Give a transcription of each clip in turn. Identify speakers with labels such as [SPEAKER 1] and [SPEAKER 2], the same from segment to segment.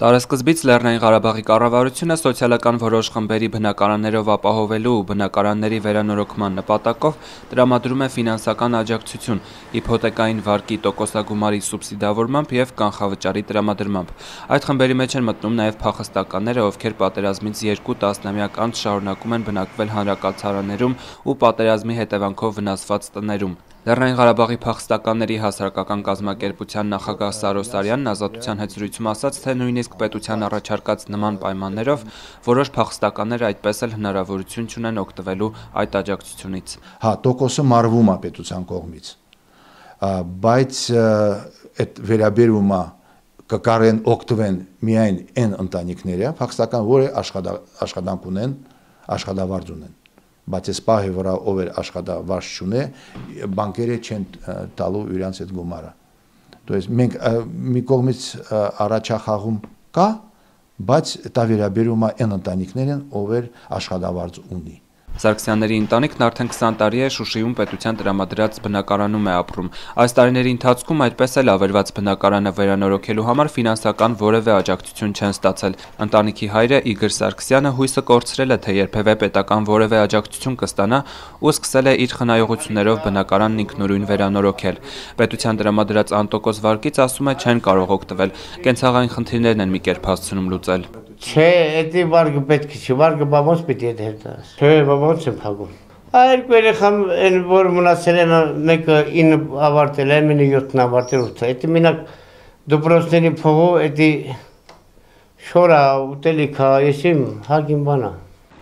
[SPEAKER 1] Տարեսկզբից Լեռնային Ղարաբաղի կառավարությունը սոցիալական որոշ խմբերի բնակարաններով ապահովելու ու բնակարանների վերանորոգման նպատակով տրամադրում է ֆինանսական աջակցություն իփոթեկային վարկի տոկոսագումարի սուբսիդավորմամբ և կանխավճարի տրամադրմամբ։ Այդ խմբերի մեջ են մտնում նաև փախստականները, ովքեր պատերազմից 2 տասնամյակ անց շարունակում են բնակվել հանրակացարաններում ու պատերազմի հետևանքով վնասված տներում։ Լեռնային Ղարաբաղի փախստականների հասարակական կազմակերպության նախագահ Սարո Սարյանն Ազատության հետ զրույցում ասաց, թե նույնիսկ պետության առաջարկած նման պայմաններով որոշ փախստականներ այդպես էլ հնարավորություն չունեն օգտվելու այդ աջակցությունից։
[SPEAKER 2] Տոկոսը մարվում է պետության կողմից, բայց այդ վերաբերումը կկարեն օգտվեն միայն այն ընտանիքները, փախստական, որը աշխատանք ունեն, աշխատավարձ ունեն։ Բայց այս պահի վրա ով էր աշխատավարձ չունե, բանկերը չեն տալու իրենց այդ գումարը։ Մենք մի կողմից առաջախաղում կա, բայց դա վերաբերում է այն ընտանիքներին, ով էր աշխատավարձ ունի։
[SPEAKER 1] Սարգսյանների ընտանիքն արդեն 20 տարի է Շուշիում պետության տրամադրած բնակարանում է ապրում։ Այս տարիների ընթացքում այդպես էլ ավերված բնակարանը վերանորոգելու համար ֆինանսական որևէ աջակցություն չեն ստացել։ Ընտանիքի հայրը Իգոր Սարգսյանը հույսը կորցրել է, թե երբևէ պետական որևէ աջակցություն կստանա ու սկսել է իր խնայողություններով բնակարանն ինքնուրույն վերանորոգել։ Պետության տրամադրած անտոկոս վարկից, ասում է, չեն կարող օգտվել։ Կենցաղային խնդիրներն են մի կերպ հասցնում լուծել։
[SPEAKER 3] Չէ, էդի վարկը պետք չէ, վարկը բամոց պիտի հետհետաս։ Չէ, բամոց եմ փակում։ Երկու երեխամ են որ մնացել են, մեկը 9 ավարտել է, մինը 7 ավարտել 8։ Էդի մենակ դպրոցների փողով էդի շորա ուտելիքա, եսիմ հագին բանա։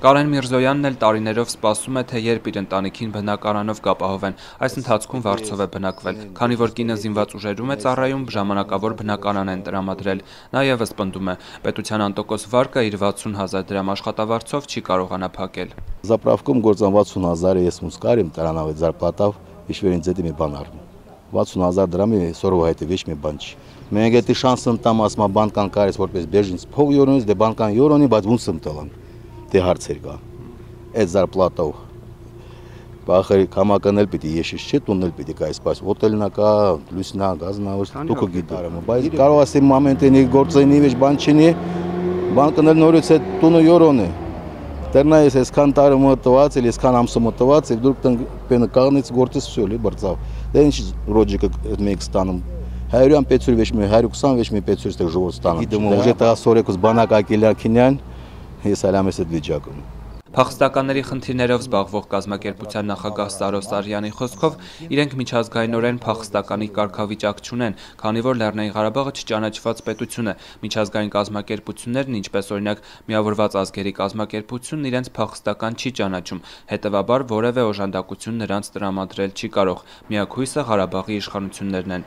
[SPEAKER 1] Կարեն Միրզոյանն էլ տարիներով սպասում է, թե երբ իր ընտանիքին բնակարանով կապահովեն։ Այս ընթացքում վարձով է բնակվել։ Քանի որ կինը զինված ուժերում է ծառայում, ժամանակավոր բնակարան են տրամադրել։ Նա ևս պնդում է, պետության անտոկոս վարկը իր 60,000 դրամ աշխատավարձով չի կարողանա փակել։
[SPEAKER 4] Заправком գործան 60,000 ես մուսկարիմ տրանավետ зарплатав, իշվերին ձեդի մի բան արվում։ 60,000 դրամի սորով հայտի ոչ մի բան չի։ Մենք էդի շանսն տամ ասма բանկան կարես որպես բեժինց փող յորոնից դե բանկան յորոնի, բայց ոնց եմ տալան։ Դե հարցեր կա։ Այդ зарплатով բախերի կամականել պիտի եշիշ չի տունել պիտի կայս, բայց հոթելնա կա, լուսնա, գազնա, դուք գիտարեմ, բայց կարող ասեմ մոմենտենի գործենի վեճ բան չինի, բանկն էլ նորից է տունը յորոն է։ Դեռնա ես այսքան տարի մտված, այսքան ամսը մտված, եւ դուք տեն կաղնից գործես всё լի բրծավ։ Դե ինչ լոջիկը մեկ ստանում 100-յան 500 վեճ մի 120 վեճ մի 500 ստեղ ժողով ստանում։ Գիտեմ, ուժը տա սորեկուս բանակակիլակինյան, ես այլամ ես այդ վիճակում։
[SPEAKER 1] Փախստականների խնդիրներով զբաղվող կազմակերպության նախագահ Սարո Սարյանի խոսքով իրենք միջազգայինորեն փախստականի կարգավիճակ չունեն, քանի որ Լեռնային Ղարաբաղը չճանաչված պետություն է։ Միջազգային կազմակերպություններն, ինչպես օրինակ Միավորված ազգերի կազմակերպությունն, իրենց փախստական չի ճանաչում, հետևաբար որևէ օժանդակություն նրանց տրամադրել չի կարող։ Միակ հույսը Ղարաբաղի իշխանություններն են։